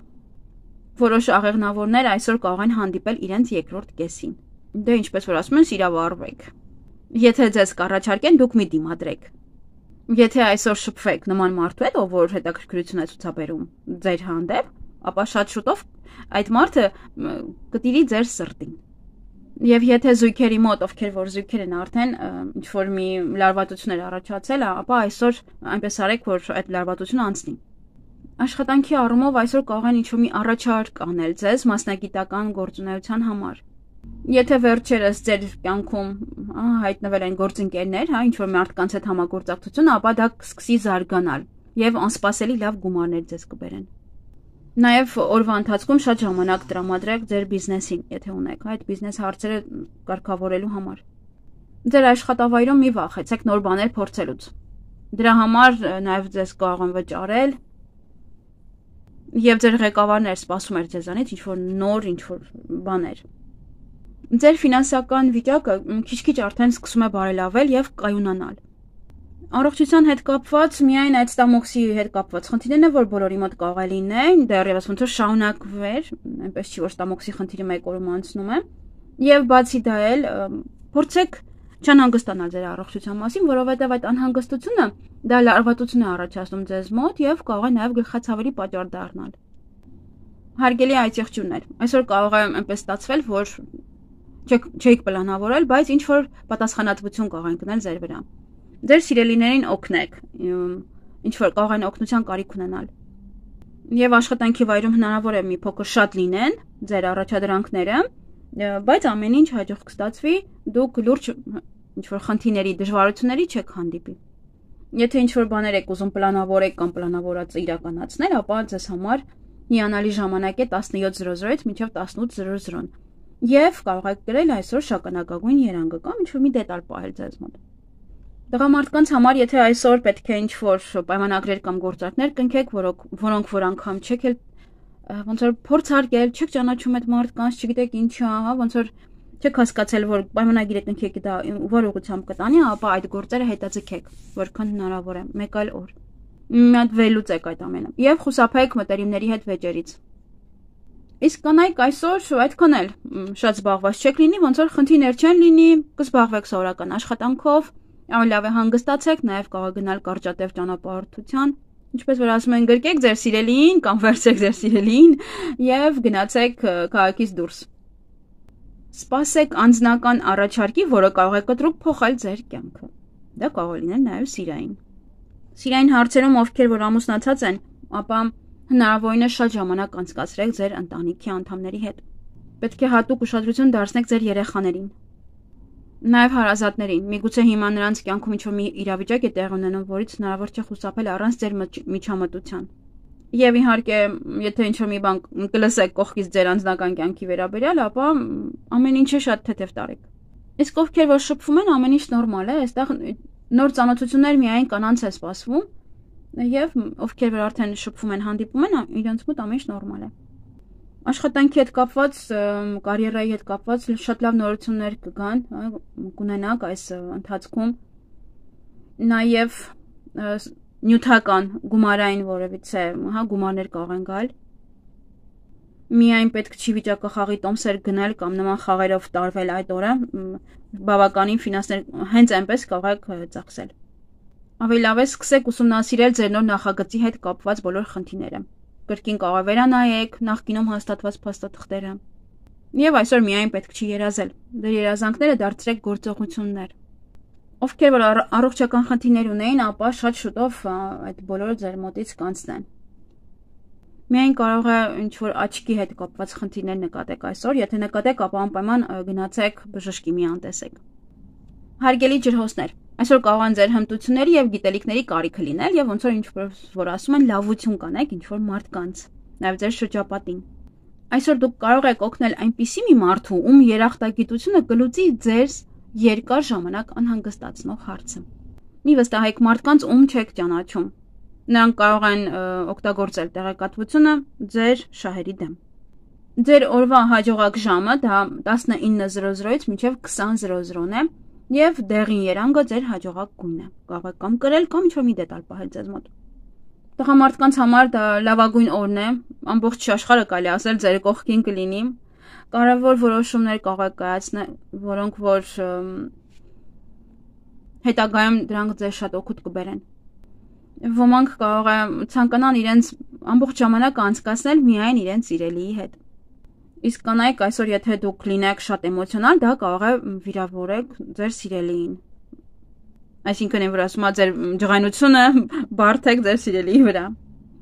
Որոշ աղեղնավորներ այսօր կարող են հանդիպել իրենց երկրորդ կեսին։ Դե ինչպես որ ասում են, սիրավարվեք։ Եթե ձեզ կառաջարկեն, դուք մի դիմադրեք։ Եթե այսօր շփվեք նման մարդու հետ, ով որ հետաքրքրություն է ցուցաբերում ձեր հանդեպ, ապա շատ շուտով այդ մարդը կտիրի ձեր սրտին։ Եվ եթե զույգերի մոտ, ովքեր որ զույգեր են արդեն ինչ որ մի լարվածություններ առաջացել, ապա այսօր այնպես արեք, որ այդ լարվածությունը անցնի։ Աշխատանքի առումով այսօր կարող են ինչ-որ մի առաջարկ անել ձեզ մասնագիտական գործունեության համար։ Եթե վերջերս ձեր կյանքում հայտնվել են գործընկերներ, հա, ինչ-որ մարդկանց հետ համագործակցություն, ապա դա կսկսի զարգանալ եւ անսպասելի լավ գումարներ ձեզ կբերեն։ Նաև օրվա ընթացքում շատ ժամանակ տրամադրեք ձեր բիզնեսին, եթե ունեք այդ բիզնես հարցերը կարգավորելու համար։ Ձեր աշխատավայրում մի վախեցեք նոր բաներ փորձելուց։ Դրա համար նաև ձեզ կարող են վճարել եւ ձեր ղեկավարն էր սպասում էր ձեզանից ինչ-որ նոր ինչ-որ բաներ։ Ձեր ֆինանսական վիճակը քիչ-քիչ արդեն սկսում է բարելավել եւ կայունանալ։ Առողջության հետ կապված միայն այդ ստամոքսի հետ կապված խնդիրներն են, որ բոլորի մոտ կարող է լինեն, դեռևս ոնց որ շարունակվեր, այնպես չի որ ստամոքսի խնդիրը մեկ օրում անցնում է, եւ բացի դա էլ փորձեք չանհանգստանալ ձեր առողջության մասին, որովհետեւ այդ անհանգստությունը դա լարվածություն է առաջացնում ձեզ մոտ եւ կարող է նաեւ գլխացավերի պատճառ դառնալ։ Հարգելի այցեղջյուրներ, այսօր կարող է այնպես ստացվել, որ չեք պլանավորել, բայց ինչ որ պատասխանատվություն կարող են գնել ձեր վրա։ Ձեր սիրելիներին օգնեք, ինչ որ կարող են օգնության կարիք ունենալ։ Եվ աշխատանքի վայրում հնարավոր է մի փոքր շատ լինեն ձեր առաջադրանքները, բայց ամեն ինչ հաջող կստացվի, դուք լուրջ ինչ որ խնդիրների, դժվարությունների չեք հանդիպի։ Եթե ինչ որ բաներ եք ուզում պլանավորեք կամ պլանավորածը իրականացնել, ապա ձեզ համար հիանալի ժամանակ է տասնյոթ զրո զրոից մինչև տասնութ զրո զրոն։ Եվ կարող եք գրել այսօր շագանակագույն երանգը կամ ինչ որ մի դետալ պահել ձեզ մոտ։ Տղամարդկանց համար, եթե այսօր պետք է ինչ-որ պայմանագրեր կամ գործարքներ կնքեք, որոնք որոնք որ անգամ չեք էլ ոնց որ փորձարկել, չեք ճանաչում այդ մարդկանց, չգիտեք ինչա, հա, ոնց որ չեք հասկացել, որ պայմանագիրը կնքեք դա որ ուղղությամբ կտանի, ապա այդ գործերը հետաձգեք, որքան հնարավոր է, մեկ այլ օր։ Մի հատ վերլուծեք այդ ամենը եւ խուսափեք մտերիմների հետ վեճերից։ Իսկ կանայք այսօր այդքան էլ շատ զբաղված չեք լինի, ոնց որ խնդիրներ չեն լինի, կզբաղվեք սովորական աշխատանքով, ավելի լավ է հանգստացեք, նաև կարող գնալ կարճատև ճանապարհորդության, ինչպես որ ասում են, գրկեք ձեր սիրելիին կամ վերցրեք ձեր սիրելիին եւ գնացեք քաղաքից դուրս։ Սպասեք անձնական առաջարկի, որը կարող է կտրուկ փոխել ձեր կյանքը։ Դա կարող է լինել նաև սիրային։ Սիրային հարցերում ովքեր որ ամուսնացած են, ապա հնարավորինս շատ ժամանակ անցկացրեք ձեր ընտանիքի անդամների հետ։ Պետք է հատուկ ուշադրություն դարձնեք ձեր երեխաներին, նաև հարազատներին։ Միգուցե հիմա նրանց կյանքում ինչ-որ մի իրավիճակ է տեղ ունենում, որից հնարավոր չէ խուսափել առանց ձեր միջամտության։ Եվ իհարկե, եթե ինչ-որ մի բան կլսեք կողքից ձեր անձնական կյանքի վերաբերյալ, ապա ամեն ինչը շատ թեթև տարեք։ Իսկ ովքեր որ շփվում են, ամեն ինչ նորմալ է, այստեղ նոր ծանոթություններ միայն կանանց է սպասվում, եւ ովքեր որ արդեն շփվում են, հանդիպում են, իրենց մոտ ամեն ինչ նորմալ է։ Աշխատանքի հետ կապված, կարիերայի հետ կապված շատ լավ նորություններ կգան, կունենաք այս ընթացքում։ Նաև նյութական գումարային որևիցե, հա, գումարներ կարող են գալ։ Միայն պետք չի վիճակախաղի տոմսեր գնել կամ նման խաղերով տարվել այդ օրը, բավականին ֆինանսներ հենց այնպես կարող եք ծախսել։ Ավելի լավ է սկսեք ուսումնասիրել ձեր նոր նախագծի հետ կապված բոլոր խնդիրները։ Կրկին կարող է վերանայեք նախկինում հաստատված փաստաթղթերը։ Եվ այսօր միայն պետք չի երազել, դեր երազանքները դարձրեք գործողություններ։ Ովքեր որ առողջական խնդիրներ ունեին, ապա շատ շուտով այդ բոլորը ձեր մոտից կանցնեն։ Միայն կարող է ինչ-որ աչքի հետ կապված խնդիրներ նկատեք այսօր, եթե նկատեք, ապա անպայման գնացեք բժշկի մի անտեսեք։ Հարգելի ջրհոսներ, այսօր կարող են ձեր հմտությունների եւ գիտելիքների կարիքը լինել եւ ոնց որ ինչ-որ ասում են լավություն կանեք ինչ-որ մարդկանց, նաեւ ձեր շրջապատին։ Այսօր դուք կարող եք օգնել այնպիսի մի մարդու, ում երախտագիտությունը կլուծի ձեր երկար ժամանակ անհանգստացնող հարցը։ Մի վստահեք մարդկանց, ում չեք ճանաչում։ Նրանք կարող են օգտագործել տեղեկատվությունը ձեր շահերի դեմ։ Ձեր օրվա հաջողակ ժամը դա տասնինը զրո զրոից մինչև քսան զրո զրոն է եւ դեղին երանգը ձեր հաջողակ գույնն է։ Կարող եք կամ կրել կամ ինչ-որ մի դետալ պահել ձեզ մոտ։ Տղամարդկանց համար դա լավագույն օրն է, ամբողջ աշխարհը կարելի ասել ձեր կողքին կլինի։ Կարևոր որոշումներ կարող եք կայացնել, որոնք որ հետագայում դրանք ձեզ շատ օգուտ կբերեն։ Ոմանք կարող է ցանկանան իրենց ամբողջ ժամանակը անցկացնել միայն իրենց սիրելիի հետ։ Իսկ կանայք այսօր եթե դուք լինեք շատ էմոցիոնալ, դա կարող է վիրավորեք ձեր սիրելիին։ Այսինքն այն որ ասում է ձեր ջղայնությունը բարթեք ձեր սիրելիի վրա։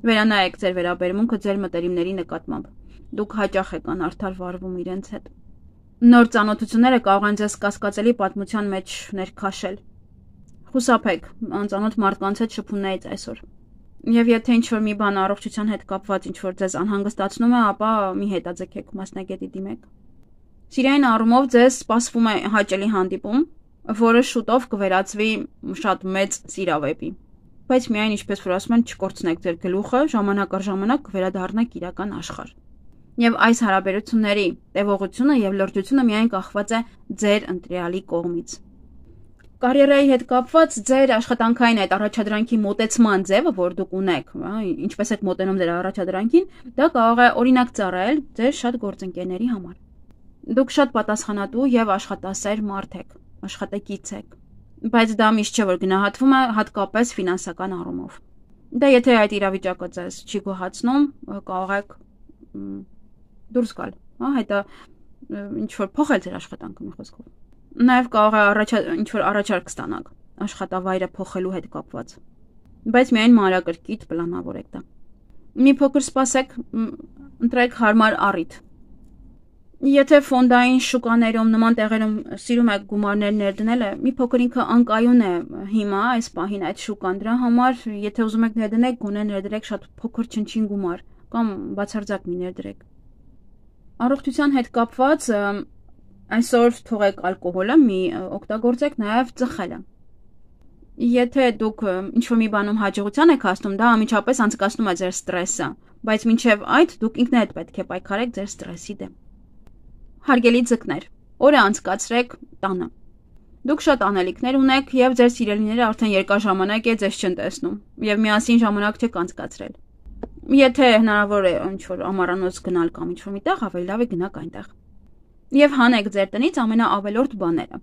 Վերանայեք ձեր վերաբերմունքը ձեր մտերիմների նկատմամբ։ Դուք հաճախ եք անարդար վարվում իրենց հետ։ Նոր ծանոթությունները կարող են ձեզ կասկածելի պատմության մեջ ներքաշել։ Խուսափեք անծանոթ մարդկանց հետ շփումներից այսօր։ Եվ եթե ինչ-որ մի բան առողջության հետ կապված ինչ-որ ձեզ անհանգստացնում է, ապա մի հետաձգեք, մասնագետի դիմեք։ Սիրային առումով ձեզ սպասվում է հաճելի հանդիպում, որը շուտով կվերածվի շատ մեծ սիրավեպի։ Բայց միայն ինչպես որ ասում են, չկորցնեք ձեր գլուխը, ժամանակ առ ժամանակ կվերադառնաք իրական աշխարհ։ Եվ այս հարաբերությունների տևողությունը եւ լրջությունը միայն կախված է ձեր ընտրյալի կողմից։ Կարիերայի հետ կապված ձեր աշխատանքային այդ առաջադրանքի մոտեցման ձևը, որ դուք ունեք, ինչպես եք մոտենում ձեր առաջադրանքին, դա կարող է օրինակ ծառայել ձեր շատ գործընկերների համար։ Դուք շատ պատասխանատու եւ աշխատասեր մարդ եք, աշխատակից եք, բայց դա միշտ չէ որ գնահատվում է հատկապես ֆինանսական առումով։ Դա եթե այդ իրավիճակը ձեզ չի գոհացնում, կարող եք դուրս գալ, հա, հետո ինչ որ փոխել ձեր աշխատանքը մի խոսքով։ Նաև կարող է առաջ ինչ որ առաջարկ ստանաք աշխատավայրը փոխելու հետ կապված։ Բայց միայն մանրակրկիտ պլանավորեք դա։ Մի փոքր սպասեք, ընտրեք հարմար առիթ։ Եթե ֆոնդային շուկաներում նման տեղերում սիրում եք գումարներ ներդնելը, մի փոքր ինքը անկայուն է հիմա այս պահին այդ շուկան, դրա համար եթե ուզում եք ներդնեք, գոնե ներդրեք շատ փոքր չնչին գումար կամ բացարձակ մի ներդրեք։ Առողջության հետ կապված այսօր թողեք ալկոհոլը, մի օգտագործեք նաև ծխելը։ Եթե դուք ինչ-որ մի բանում հաջողության եք հասնում, դա անմիջապես անցկացնում է ձեր ստրեսը, բայց մինչև այդ դուք ինքներդ պետք է պայքարեք ձեր ստրեսի դեմ։ Հարգելի ձկներ, օրը անցկացրեք տանը։ Դուք շատ անելիքներ ունեք եւ ձեր սիրելիները արդեն երկար ժամանակ է ձեզ չեն տեսնում եւ միասին ժամանակ չեք անցկացրել։ Եթե հնարավոր է ինչ-որ ամառանոց գնալ կամ ինչ-որ միտեղ, ավելի լավ է գնաք այնտեղ։ Եվ հանեք ձեր տնից ամենաավելորդ բաները։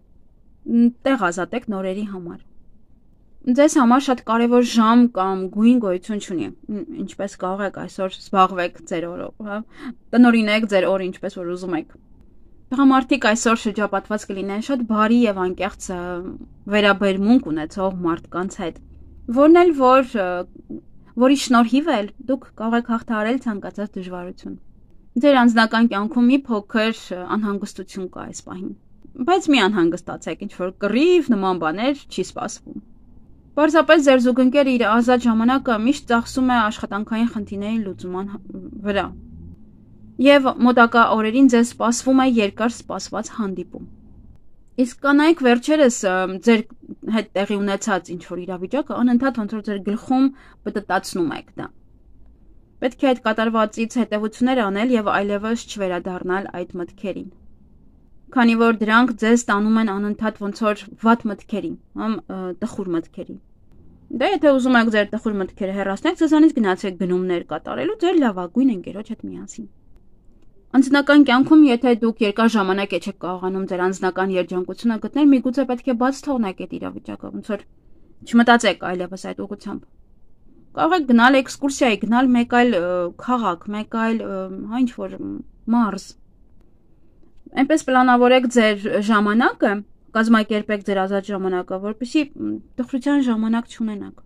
Տեղ ազատեք նորերի համար։ Ձեզ համար շատ կարևոր ժամ կամ գույն գոյություն չունի, ինչպես կարող եք այսօր զբաղվեք ձեր օրով, հա, տնօրինեք ձեր օրը ինչպես որ ուզում եք։ Տղամարդիկ այսօր շրջապատված կլինեն շատ բարի եւ անկեղծ վերաբերմունք ունեցող մարդկանց հետ, որն էլ որ որի շնորհիվ էլ դուք կարող եք հաղթահարել ցանկացած դժվարություն։ Ձեր անձնական կյանքում մի փոքր անհանգստություն կա այս պահին, բայց մի անհանգստացեք, ինչ որ կռիվ նման բաներ չի սպասվում։ Պարզապես ձեր զուգընկերը իր ազատ ժամանակը միշտ ծախսում է աշխատանքային խնդիրների լուծման վրա։ Եվ մոտակա օրերին ձեզ սպասվում է երկար սպասված հանդիպում։ Իսկ կանայք վերջերս ձեր հետ տեղի ունեցած ինչ-որ իրավիճակը անընդհատ ոնց որ ձեր գլխում պտտացնում եք դա։ Պետք է այդ կատարվածից հետևություններ անել եւ այլևս չվերադառնալ այդ մտքերին։ Քանի որ դրանք ձեզ տանում են անընդհատ ոնց որ վատ մտքերի, համ տխուր մտքերի։ Դա եթե ուզում եք ձեր տխուր մտքերը հեռացնել, ձեզանից գնացեք գնումներ կատարելու ձեր լավագույն ընկերոջ հետ միասին։ Անձնական կյանքում, եթե դուք երկար ժամանակ եք կարողանում ձեր անձնական երջանկությունը գտնել, միգուցե պետք է բաց թողնեք այդ իրավիճակը, ոնց որ չմտածեք այլևս այդ ուղղությամբ։ Կարող եք գնալ էքսկուրսիայի, գնալ մեկ այլ քաղաք, մեկ այլ հա ինչ որ մարզ։ Այնպես պլանավորեք ձեր ժամանակը, կազմակերպեք ձեր ազատ ժամանակը, որպեսզի տխրության ժամանակ չունենաք։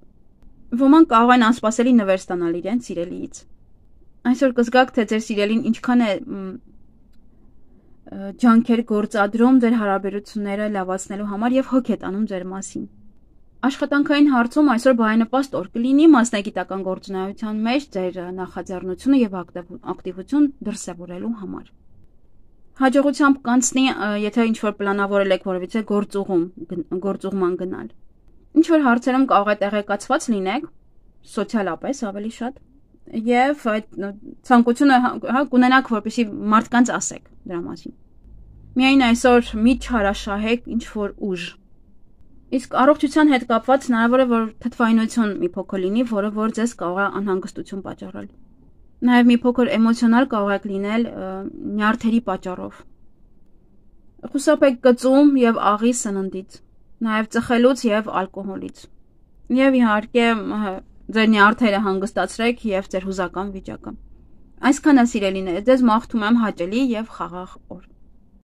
Ոմանք կարող են անսպասելի նվեր ստանալ իրենց սիրելիից։ Այսօր կզգաք, թե ձեր սիրելին ինչքան է ջանքեր գործադրում ձեր հարաբերությունները լավացնելու համար եւ հոգ է տանում ձեր մասին։ Աշխատանքային հարցում այսօր բարենպաստ օր կլինի մասնագիտական գործունեության մեջ ձեր նախաձեռնությունը եւ ակտիվություն դրսեւորելու համար։ Հաջողությամբ կանցնի, եթե ինչ-որ պլանավորել եք որևիցե գործուղում, գործուղման գնալ։ Ինչ-որ հարցերում կարող է տեղեկացված լինեք, սոցիալապես ավելի շատ, եւ այդ ցանկությունը հա կունենաք, որպեսզի մարդկանց ասեք դրա մասին։ Միայն այսօր մի չհարաշահեք ինչ-որ ուժ։ Իսկ առողջության հետ կապված հնարավոր է, որ թթվայնություն մի փոքր լինի, որը որ ձեզ կարող է անհանգստություն պատճառել։ Նաև մի փոքր էմոցիոնալ կարող եք լինել նյարդերի պատճառով։ Խուսափեք կծում եւ աղի սննդից, նաև ծխելուց եւ ալկոհոլից։ Եվ իհարկե ձեր նյարդերը հանգստացրեք եւ ձեր հուզական վիճակը։ Այսքանը սիրելիներ, ձեզ մաղթում եմ հաճելի եւ խաղաղ օր։